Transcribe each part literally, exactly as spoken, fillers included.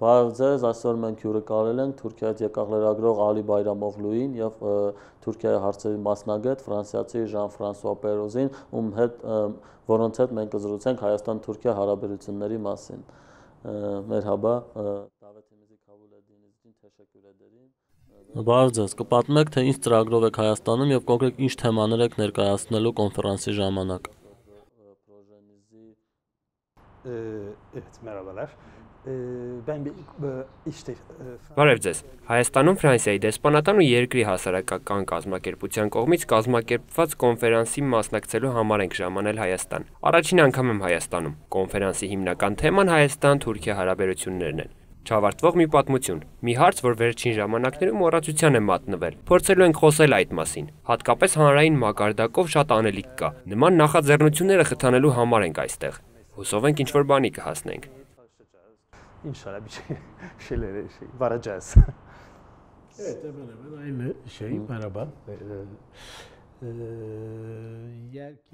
Բարև ձեզ, այսօր մենք հյուրընկալել ենք Թուրքիայից եկող լրագրող Ալի Բայրամօղլուին եւ Թուրքիայի հարցերի մասնագետ ֆրանսիացի Ժան-Ֆրանսուଆ Պերոզին, ում հետ որոնց հետ մենք կզրուցենք Հայաստան-Թուրքիա հարաբերությունների մասին։ Մերհաբա, Դավեթիմիզի Քավուլեդինիզին teşekkür ederim։ Բարև ձեզ, կպատմեք թե ինչ ծրագրով եք Հայաստանում եւ կոնկրետ ինչ թեմաներ եք ներկայացնելու կոնֆերանսի ժամանակ։ Evet, merhabalar. Ben bir işte Բարև ձեզ։ Հայաստանում Ֆրանսիայի դեսպանատան ու երկրի հասարակական կազմակերպության կողմից կազմակերպված կոնֆերանսի մասնակցելու համար ենք ժամանել Հայաստան։ Առաջին անգամ եմ Հայաստանում։ Կոնֆերանսի հիմնական թեման Հայաստան-Թուրքիա հարաբերություններն են։ Չավարտվող մի պատմություն, մի հարց, որ վերջին ժամանակներում մոռացության է մատնվել։ Փորձելու ենք խոսել այդ մասին։ Հատկապես հանրային մակարդակով շատ անելիք կա։ Նման նախաձեռնությունները խթանելու համար ենք այստեղ։ Հուսով ենք ինչ-որ բանի կհասնենք։ İnşallah bir şey şeylere şey varacağız. Evet, hemen hemen aynı şey. Merhaba.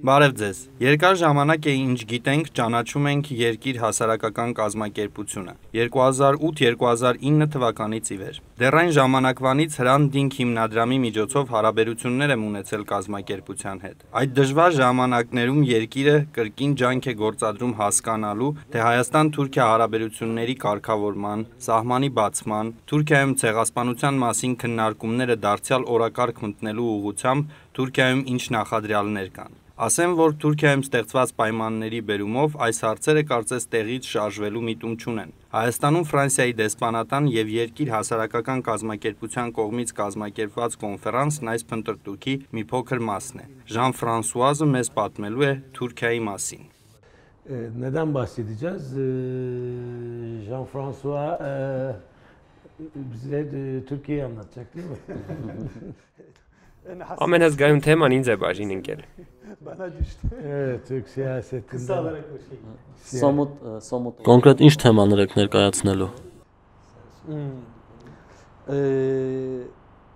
Բարև ձեզ։ Երկար ժամանակ է ինչ գիտենք, ճանաչում ենք երկիր հասարակական կազմակերպությունը։ երկու հազար ութ երկու հազար ինը թվականից ի վեր։ Դեռ այն ժամանակվանից Hrant Dink հիմնադրամի միջոցով հարաբերություններ եմ ունեցել կազմակերպության հետ։ Այդ դժվար ժամանակներում երկիրը կրկին ջանք է գործադրում հասկանալու, թե Հայաստան-Թուրքիա հարաբերությունների կարգավորման, սահմանի բացման, Թուրքիայում ցեղասպանության մասին քննարկումները դարձյալ օրակարգ մտնելու ուղղությամբ Թուրքիայում ինչ նախադրյալներ կան։ Ասեմ, որ Թուրքիայում ստեղծված պայմանների բերումով այս հարցերը կարծես տեղից շարժվելու միտում չունեն։ Հայաստանում Ֆրանսիայի դեսպանատան եւ երկիր հասարակական կազմակերպության կողմից կազմակերպված կոնֆերանսն այս փնտրտուքի մի փոքր մասն է։ Ժան-Ֆրանսուազը մեզ պատմելու է Թուրքիայի մասին։ Neden bahsedeceğiz? Jean-François bize Türkiye'yi anlatacak değil mi? Ամենազգայուն թեման ինձ է բաժին ընկել։ Evet, Türk siyasetinde. Somut, somut. Կոնկրետ ինչ թեմաներ եք ներկայացնելու։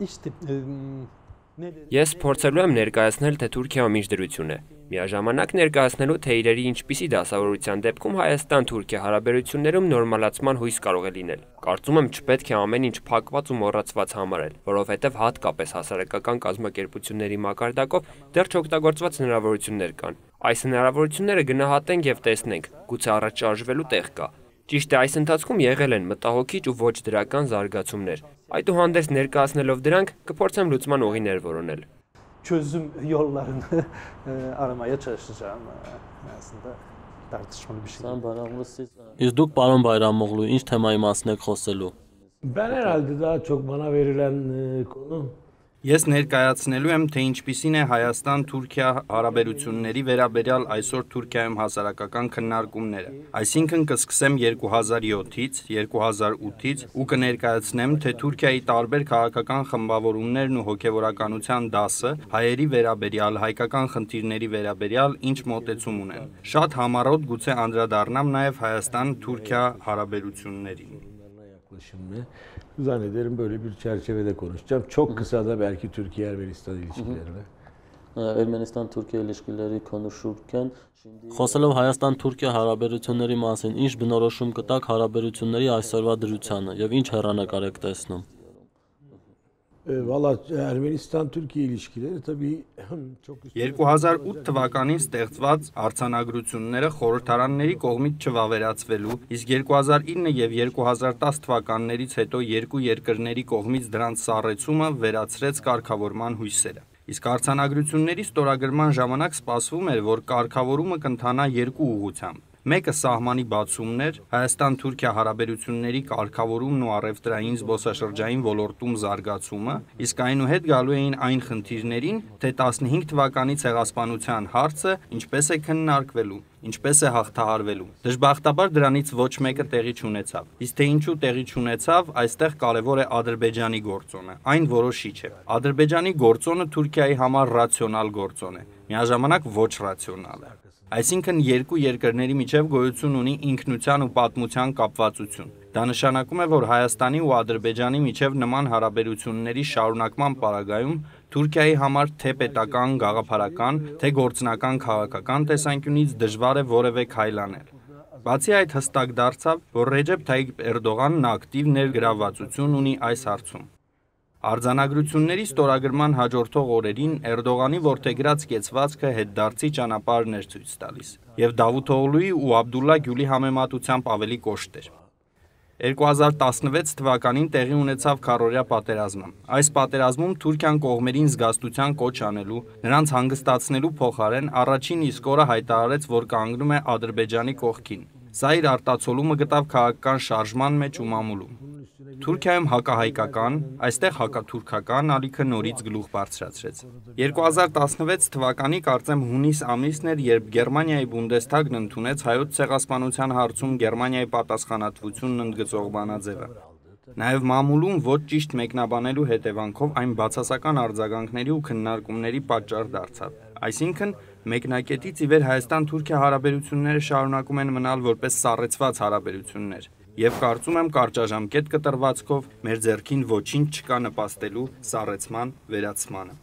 işte Ես փորձելու եմ ներկայացնել, թե Թուրքիայում ինչ դրություն է։ Միաժամանակ ներկայացնելու, թե իրերի ինչպիսի դասավորության դեպքում Հայաստան-Թուրքիա հարաբերություններում նորմալացման հույս կարող է լինել։ Կարծում եմ չպետք է ամեն ինչ փակված ու մոռացված համարել, որովհետև հատկապես հասարակական կազմակերպությունների մակարդակով դեռ չօգտագործված հնարավորություններ կան։ Այս հնարավորությունները գնահատենք եւ տեսնենք, գուցե առաջ շարժվելու տեղ կա։ Ճիշտ է, այս ընթացքում եղել են մտահոգիչ ու ոչ դրական զարգացումներ։ Այդուհանդերձ ներկայացնելով դրանք կփորձեմ լուծման ուղիներ որոնել։ çözüm yollarını aramaya çalışacağım. Aslında tartışmalı bir şey. Իսկ դուք պարոն Բայրամօղլու, ինչ թեմայի մասին եք խոսելու։ Ben herhalde daha çok bana verilen konu Ես ներկայացնելու եմ, թե ինչպիսին է Հայաստան-Թուրքիա հարաբերությունների վերաբերյալ այսօր Թուրքիայում հասարակական քննարկումները։ Այսինքն կսկսեմ երկու հազար յոթից, երկու հազար ութից ու կներկայացնեմ, թե Թուրքիայի տարբեր քաղաքական խմբավորումներն ու հոգևորականության դասը հայերի վերաբերյալ, հայկական խնդիրների վերաբերյալ ինչ մոտեցում ունեն։ Շատ համառոտ գուցե անդրադառնամ նաև Հայաստան-Թուրքիա հարաբերություններին։ yaklaşımını zannederim böyle bir çerçevede konuşacağım. Çok kısa da belki Türkiye-Ermenistan ilişkilerine. Ermənistan-Թուրքիա ilişkiləri konuşurken խոսելով Հայաստան-Թուրքիա հարաբերությունների մասին, ինչ բնորոշում կտաք հարաբերությունների այսօրվա դրությանը եւ ինչ հեռանկար եք տեսնում։ Valla Ermenistan-Türkiye ilişkileri tabii çok երկու հազար ութ թվականին ստեղծված արձանագրությունները խորհրդարանների կողմից չվավերացվելու, իսկ երկու հազար ինը եւ երկու հազար տասը թվականներից հետո երկու երկրների կողմից դրանց սառեցումը վերացրեց կարգավորման հույսերը։ Իսկ արձանագրությունների ստորագրման ժամանակ սպասվում էր, որ կարգավորումը կընթանա երկու ուղղությամբ։ Մեկը սահմանի բացումն էր, Հայաստան-Թուրքիա հարաբերությունների կարգավորումն ու առևտրային զբոսաշրջային ոլորտում զարգացումը, իսկ այնուհետ գալու էին այն խնդիրներին, թե տասնհինգ թվականի ցեղասպանության հարցը ինչպես է քննարկվելու, ինչպես է հաղթահարվելու։ Դժբախտաբար դրանից ոչ մեկը տեղի չունեցավ։ Իսկ թե ինչու տեղի չունեցավ, այստեղ կարևոր է Ադրբեջանի գործոնը։ Այն որոշիչ է։ Ադրբեջանի գործոնը Թուրքիայի համար ռացիոնալ գործոն է, միաժամանակ ոչ ռացիոնալ է։ Այսինքն երկու երկրների միջև գոյություն ունի ինքնության ու պատմության կապվածություն։ Դա նշանակում է, որ Հայաստանի ու Ադրբեջանի միջև նման հարաբերությունների շարունակման պարագայում Թուրքիայի համար թե պետական, գաղափարական, թե գործնական քաղաքական տեսանկյունից դժվար է որևէ քայլ անել։ Բացի այդ հստակ դարձավ, որ Ռեջեփ Թայիփ Էրդողանն ակտիվ ներգրավվածություն ունի այս հարցում։ Արձանագրությունների ստորագրման հաջորդող օրերին Էրդողանի որդեգրած կեցվածքը հետդարձի ճանապարհն էր ցույց տալիս, եւ Դավութօղլուի ու Աբդուլլա Գյուլի համեմատությամբ ավելի կոշտ էր։ երկու հազար տասնվեց թվականին տեղի ունեցավ քառօրյա պատերազմը։ Այս պատերազմում Թուրքիան կողմերին զգաստության կոչ անելու, նրանց հանգստացնելու փոխարեն առաջին իսկ օրը հայտարարեց, որ կանգնում է Ադրբեջանի կողքին։ Սա իր արտացոլումը գտավ քաղաքական շարժման մեջ ու մամուլում։ Թուրքիայում հակահայկական, այստեղ հակաթուրքական ալիքը նորից գլուխ բարձրացրեց։ երկու հազար տասնվեց թվականի կարծեմ հունիս ամիսն էր, երբ Գերմանիայի Բունդեսթագն ընդունեց հայոց ցեղասպանության հարցում Գերմանիայի պատասխանատվությունն ընդգծող բանաձևը։ Նաև մամուլում ոչ ճիշտ մեկնաբանելու հետևանքով այն բացասական արձագանքների ու քննարկումների պատճառ դարձավ։ Այսինքն, մեկնակետից ի վեր Հայաստան-Թուրքիա հարաբերությունները շարունակում են մնալ որպես սառեցված հարաբերություններ, եւ կարծում եմ կարճաժամկետ կտրվածքով մեր ձեռքին ոչինչ չկա նպաստելու սառեցման վերացմանը։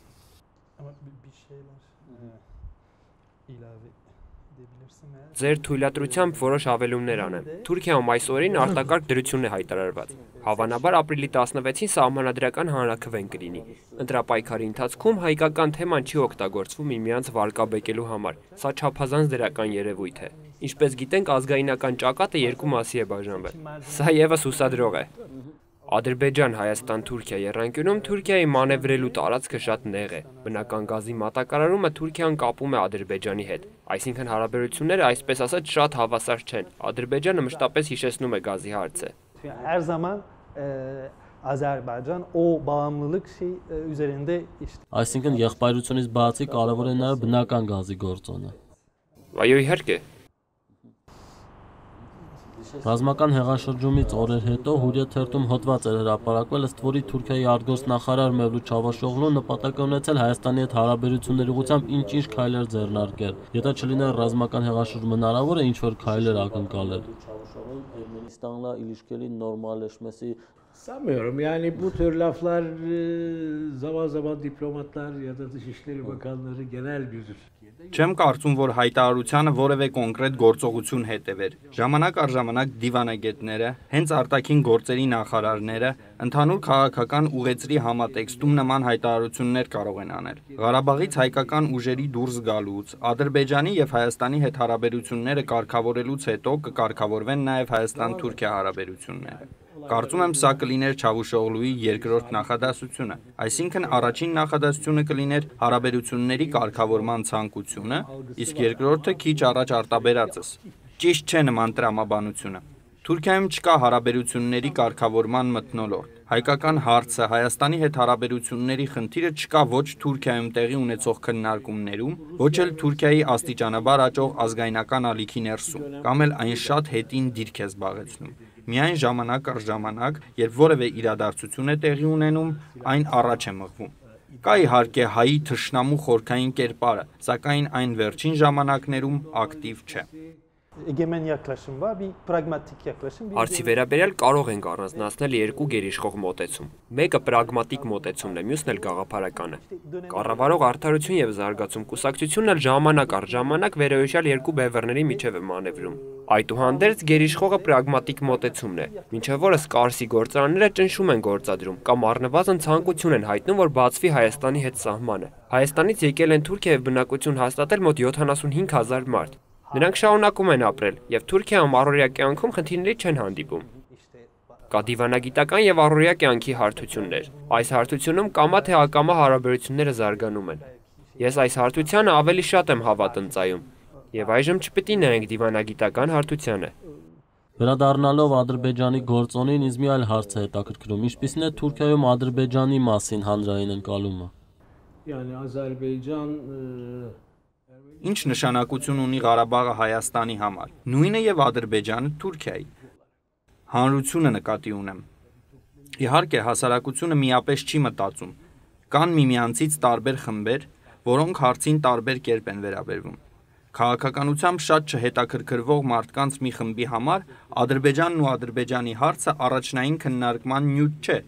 Ձեր թույլատրությամբ որոշ հավելումներ անեմ։ Թուրքիայում այս օրին արտակարգ դրություն է հայտարարված։ Հավանաբար ապրիլի տասնվեցին սահմանադրական հանրաքվեն կլինի։ Ընտրապայքարի ընթացքում հայկական թեման չի օգտագործվում միմյանց վարկաբեկելու համար։ Սա չափազանց դրական երևույթ է։ Ինչպես գիտենք, ազգայնական ճակատը երկու մասի է բաժանվել։ Սա եւս հուսադրող է։ Ադրբեջան-Հայաստան-Թուրքիա եռանկյունում Թուրքիայի մանևրելու տարածքը շատ նեղ է։ Բնական գազի մատակարարումը Թուրքիան կապում է Ադրբեջանի հետ, այսինքն հարաբերությունները այսպես ասած շատ հավասար չեն։ Ադրբեջանը մշտապես հիշեցնում է գազի հարցը։ Her zaman Azerbaycan o bağımlılık şey üzerinde işte. Այսինքն եղբայրությունից բացի կարևոր է նաև բնական գազի գործոնը։ Այո, իհարկե։ Ռազմական հեղաշրջումից օրեր հետո Հուրիեթ թերթում հոդված էր հրապարակվել, ըստ որի Թուրքիայի արտգործնախարար Մևլութ Չավուշօղլուն նպատակ է ունեցել Հայաստանի հետ հարաբերությունների ուղղությամբ ինչ-ինչ քայլեր ձեռնարկել։ Եթե չլիներ ռազմական հեղաշրջում, հնարավոր է ինչ-որ քայլեր ակնկալել։ Ermenistan'la ilişkileri normalleşmesi sanmıyorum. Yani bu tür laflar zaman zaman diplomatlar ya da Dışişleri Bakanları genel bir Չեմ կարծում, որ հայտարարությանը որևէ կոնկրետ գործողություն հետևեր։ Ժամանակ առ ժամանակ դիվանագետները, հենց արտաքին գործերի նախարարները, ընդհանուր քաղաքական ուղեցրի համատեքստում նման հայտարարություններ կարող են անել։ Ղարաբաղից հայկական ուժերի դուրս գալուց, Ադրբեջանի եւ Հայաստանի հետ հարաբերությունները կարգավորելուց հետո կկարգավորվեն նաեւ Հայաստան-Թուրքիա հարաբերությունները։ Կարծում եմ սա կլիներ Չավուշօղլուի երկրորդ նախադասությունը, այսինքն առաջին նախադասությունը կլիներ հարաբերությունների կարգավորման ցանկությունը, իսկ երկրորդը քիչ առաջ արտաբերածս։ Ճիշտ չէ նման տրամաբանությունը։ Թուրքիայում չկա հարաբերությունների կարգավորման մթնոլորտ։ Հայկական հարցը, Հայաստանի հետ հարաբերությունների խնդիրը չկա ոչ Թուրքիայում տեղի ունեցող քննարկումներում, ոչ էլ Թուրքիայի աստիճանաբար աճող ազգայնական ալիքի ներսում, կամ էլ այն շատ հետին դիրք է զբաղեցնում։ Միայն ժամանակ առ ժամանակ, երբ որևէ իրադարձություն է տեղի ունենում, այն առաջ է մղվում։ Կա իհարկե հայի թշնամու խորքային կերպարը, սակայն այն վերջին ժամանակներում ակտիվ չէ։ Egemen yaklaşım var, bir pragmatik yaklaşım. Հարցի վերաբերյալ կարող ենք առանձնացնել երկու գերիշխող մոտեցում։ Մեկը պրագմատիկ մոտեցումն է, մյուսն էլ գաղափարականը։ Կառավարող արդարություն եւ զարգացում կուսակցությունն էլ ժամանակ առ ժամանակ վերոյիշյալ երկու բևեռների միջև է մանևրում։ Այդուհանդերձ գերիշխողը պրագմատիկ մոտեցումն է, մինչև որս Կարսի գործարանները ճնշում են գործադրում կամ առնվազն ցանկություն են հայտնում, որ բացվի Հայաստանի հետ սահմանը։ Հայաստանից եկել են Թուրքիա եւ բնակություն հաստատել մոտ յոթանասունհինգ հազար մարդ։ Նրանք շարունակում են ապրել եւ Թուրքիայում առօրյա կյանքում խնդիրների չեն հանդիպում։ Կա դիվանագիտական եւ առօրյա կյանքի հարթություններ։ Այս հարթությունում կամա թե ակամա հարաբերությունները զարգանում են։ Ես այս հարթությանը ավելի շատ եմ հավատնծայում եւ այժմ չպետք է նայենք դիվանագիտական հարթությանը։ Վերադառնալով Ադրբեջանի գործոնին, ինձ մի այլ հարց է հետաքրքրում. ինչպիսին է Թուրքիայում Ադրբեջանի մասին հանրային ընկալումը։ Yani Azerbaycan Ինչ նշանակություն ունի Ղարաբաղը Հայաստանի համար։ Նույնը եւ Ադրբեջանը Թուրքիայի։ Հանրությունը նկատի ունեմ։ Իհարկե հասարակությունը միապես չի մտածում։ Կան միմյանցից տարբեր խմբեր, որոնք հարցին տարբեր կերպ են վերաբերվում։ Քաղաքականությամբ շատ չհետաքրքրվող մարդկանց մի խմբի համար Ադրբեջանն ու Ադրբեջանի հարցը առաջնային քննարկման նյութ չէ։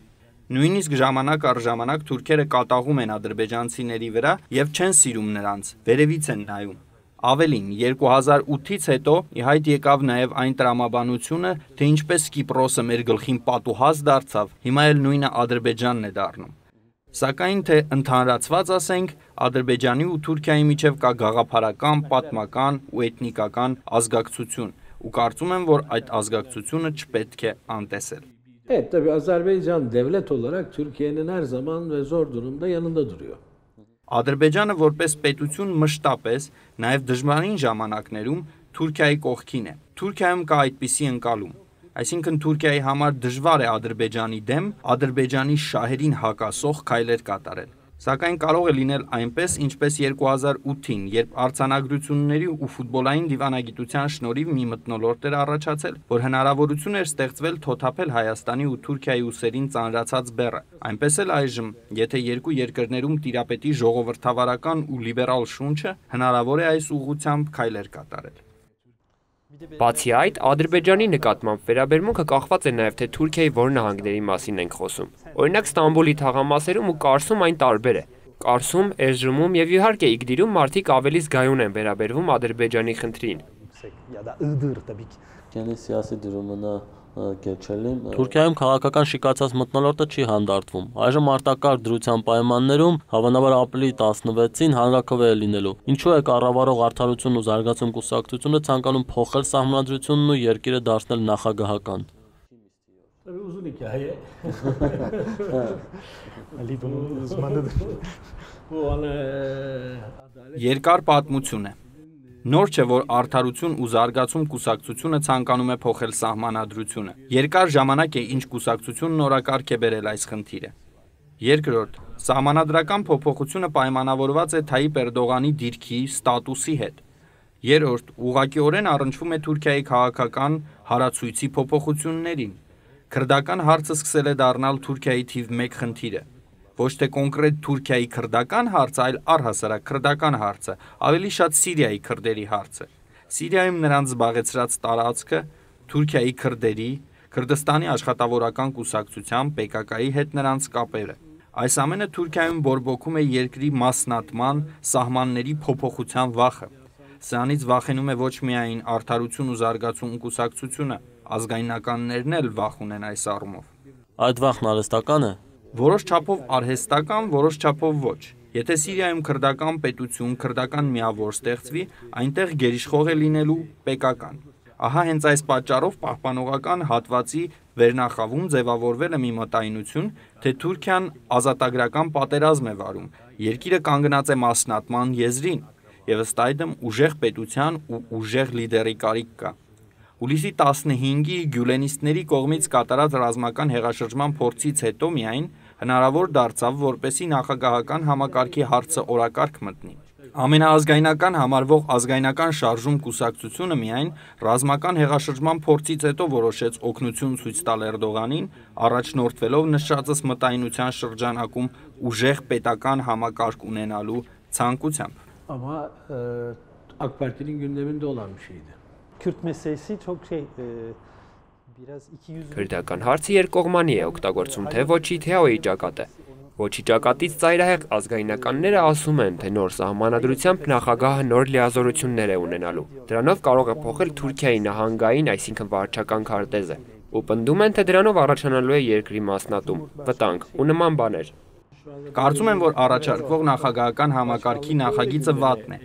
Նույնիսկ ժամանակ առ ժամանակ թուրքերը կատաղում են ադրբեջանցիների վրա եւ չեն սիրում նրանց, վերևից են նայում։ Ավելին, երկու հազար ութից հետո ի հայտ եկավ նաեւ այն տրամաբանությունը, թե ինչպես Կիպրոսը մեր գլխին պատուհաս դարձավ, հիմա էլ նույնը Ադրբեջանն է դառնում։ Սակայն թե ընդհանրացված ասենք, Ադրբեջանի ու Թուրքիայի միջև կա գաղափարական, պատմական ու էթնիկական ազգակցություն, ու կարծում եմ, որ այդ ազգակցությունը չպետք է անտեսել։ Evet, tabii Azerbaycan devlet olarak Türkiye'nin her zaman ve zor durumda yanında duruyor. Ադրբեջանը որպես պետություն մշտապես, նաև դժվարին ժամանակներում Թուրքիայի կողքին է։ Թուրքիայում կա այդպիսի ընկալում, այսինքն Թուրքիայի համար դժվար է Ադրբեջանի դեմ, Ադրբեջանի շահերին հակասող քայլեր կատարել։ Սակայն կարող է լինել այնպես, ինչպես երկու հազար ութին, երբ արձանագրությունների ու ֆուտբոլային դիվանագիտության շնորհիվ մի մթնոլորտ էր առաջացել, որ հնարավորություն էր ստեղծվել թոթափել Հայաստանի ու Թուրքիայի ուսերին ծանրացած բեռը։ Այնպես էլ այժմ, եթե երկու երկրներում տիրապետի ժողովրդավարական ու լիբերալ շունչը, հնարավոր է այս ուղղությամբ քայլեր կատարել։ Բացի այդ, Ադրբեջանի նկատմամբ վերաբերմունքը կախված է նաև թե Թուրքիայի որ նահանգների մասին ենք խոսում։ Օրինակ Ստամբուլի թաղամասերում ու Կարսում այն տարբեր է։ Կարսում, Էրզրումում եւ իհարկե Իգդիրում մարդիկ ավելի զգայուն են վերաբերվում Ադրբեջանի խնդրին։ Թուրքիայում քաղաքական շիկացած մթնոլորտը չի հանդարտվում։ Այժմ արտակարգ դրության պայմաններում հավանաբար ապրիլի տասնվեցին հանրաքվե է լինելու։ Ինչու է կառավարող Արդարություն ու զարգացում կուսակցությունը ցանկանում փոխել սահմանադրությունն ու երկիրը դարձնել նախագահական։ Uzun hikaye. Ali bunun uzmanıdır. Bu ana Երկար պատմություն է։ Նոր չէ, որ Արդարություն ու զարգացում կուսակցությունը ցանկանում է փոխել սահմանադրությունը։ Երկար ժամանակ է, ինչ կուսակցությունն օրակարգ է բերել այս խնդիրը։ Երկրորդ, սահմանադրական փոփոխությունը պայմանավորված է Թայիպ Էրդողանի դիրքի, ստատուսի հետ։ Երրորդ, ուղղակիորեն առնչվում է Թուրքիայի քաղաքական հարացույցի փոփոխություններին։ Քրդական հարցը սկսել է դառնալ Թուրքիայի թիվ մեկ խնդիրը։ Ոչ թե կոնկրետ Թուրքիայի քրդական հարցը, այլ առհասարակ քրդական հարցը, ավելի շատ Սիրիայի քրդերի հարցը։ Սիրիայում նրանց զբաղեցրած տարածքը, Թուրքիայի քրդերի, Քրդստանի աշխատավորական կուսակցության Պե Կա Կայի հետ նրանց կապերը։ Այս ամենը Թուրքիայում բորբոքում է երկրի մասնատման, սահմանների փոփոխության վախը։ Սրանից վախենում է ոչ միայն Արդարություն ու զարգացում կուսակցությունը, ազգայնականներն էլ վախ ունեն այս առումով։ Այդ վախն արհեստական է։ Որոշ չափով արհեստական, որոշ չափով ոչ։ Եթե Սիրիայում քրդական պետություն, քրդական միավոր ստեղծվի, այնտեղ գերիշխող է լինելու Պե Կա Կան։ Ահա հենց այս պատճառով պահպանողական հատվածի վերնախավում ձևավորվել է մի մտայնություն, թե Թուրքիան ազատագրական պատերազմ է վարում, երկիրը կանգնած է մասնատման եզրին, եւ ըստ այդմ ուժեղ պետության ու ուժեղ լիդերի կարիք կա։ Հուլիսի տասնհինգի գյուլենիստների կողմից կատարած ռազմական հեղաշրջման փորձից հետո միայն հնարավոր դարձավ, որպեսի նախագահական համակարգի հարցը օրակարգ մտնի։ Ամենաազգայնական համարվող ազգայնական շարժում կուսակցությունը միայն ռազմական հեղաշրջման փորձից հետո որոշեց օգնություն ցույց տալ Էրդողանին, առաջնորդվելով նշածս մտայնության շրջանակում ուժեղ պետական համակարգ ունենալու ցանկությամբ։ ama e, AK Parti'nin gündeminde olan bir şeydi. Kürt meselesi çok şey e, biraz iki yüz Քրդական հարցը երկկողմանի է օգտագործում թե ոչի թե այ ճակատը։ Ոչի ճակատից ծայրահեղ ազգայնականները ասում են, թե նոր սահմանադրությամբ նախագահը նոր լիազորություններ է ունենալու։ Դրանով կարող է փոխել Թուրքիայի նահանգային, այսինքն վարչական քարտեզը։ Ու պնդում են, թե դրանով առաջանալու է երկրի մասնատում, վտանգ ու նման բաներ։ Կարծում եմ, որ առաջարկվող նախագահական համակարգի նախագիծը վատն է։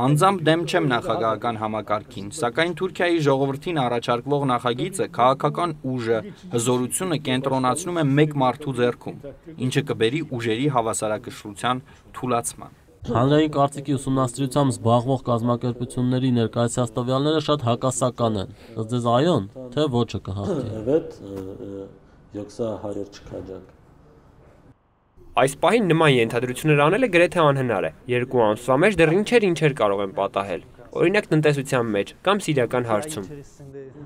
Անձամբ դեմ չեմ նախագահական համակարգին, սակայն Թուրքիայի ժողովրդին առաջարկվող նախագիծը քաղաքական ուժը, հզորությունը կենտրոնացնում է մեկ մարդու ձեռքում, ինչը կբերի ուժերի հավասարակշռության թուլացման։ Հանրային կարծիքի ուսումնասիրությամբ զբաղվող կազմակերպությունների ներկայացած տվյալները շատ հակասական են։ Ըստ ձեզ այո՞ն, թե ոչը կհաղթի։ Evet, yoksa hayır çıkacak. Այս պահին նման ենթադրություններ անելը գրեթե անհնար է։ Երկու ամսվա մեջ դեռ ինչեր ինչեր կարող են պատահել։ Օրինակ տնտեսության մեջ կամ սիրիական հարցում։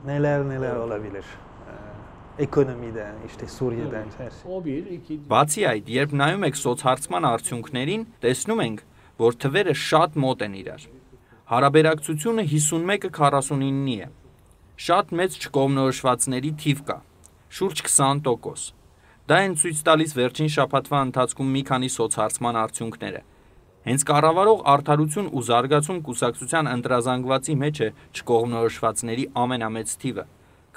neler neler olabilir. Ekonomiden, işte Suriye'den her şey. O bir, iki, Բացի այդ, երբ նայում եք սոցհարցման արդյունքներին, տեսնում ենք, որ թվերը շատ մոտ են իրար։ Հարաբերակցությունը հիսունմեկը քառասունինի է։ Շատ մեծ չկողմնորոշվածների թիվ կա, շուրջ քսան տոկոս։ Դա են ցույց տալիս վերջին շաբաթվա ընթացքում մի քանի սոցհարցման արդյունքները։ Հենց կառավարող Արդարություն ու զարգացում կուսակցության ընտրազանգվածի մեջ է չկողմնորոշվածների ամենամեծ թիվը,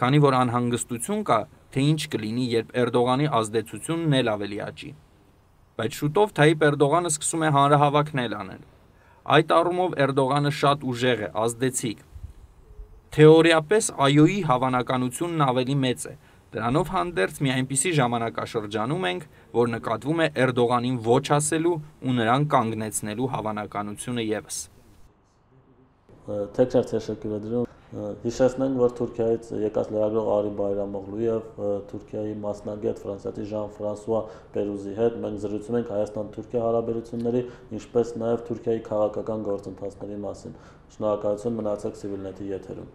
քանի որ անհանգստություն կա, թե ինչ կլինի, երբ Էրդողանի ազդեցությունն էլ ավելի աճի։ Բայց շուտով Թայիպ Էրդողանը սկսում է հանրահավաքներ անել։ Այդ առումով Էրդողանը շատ ուժեղ է, ազդեցիկ։ Թեորիապես այոյի հավանականությունն ավելի մեծ է։ Դրանով հանդերձ մի այնպիսի ժամանակաշրջանում ենք, որ նկատվում է Էրդողանին ոչ ասելու ու նրան կանգնեցնելու հավանականությունը ևս։ Tekrar teşekkür ederim. Հիշեցնենք, որ Թուրքիայից եկած լրագրող Ալի Բայրամօղլուի եւ Թուրքիայի մասնագետ Ֆրանսիացի Ժան-Ֆրանսուଆ Պերուզի հետ մենք զրուցում ենք Հայաստան-Թուրքիա հարաբերությունների, ինչպես նաեւ Թուրքիայի քաղաքական գործընթացների մասին։ Շնորհակալություն, մնացեք Civilnet-ի եթերում։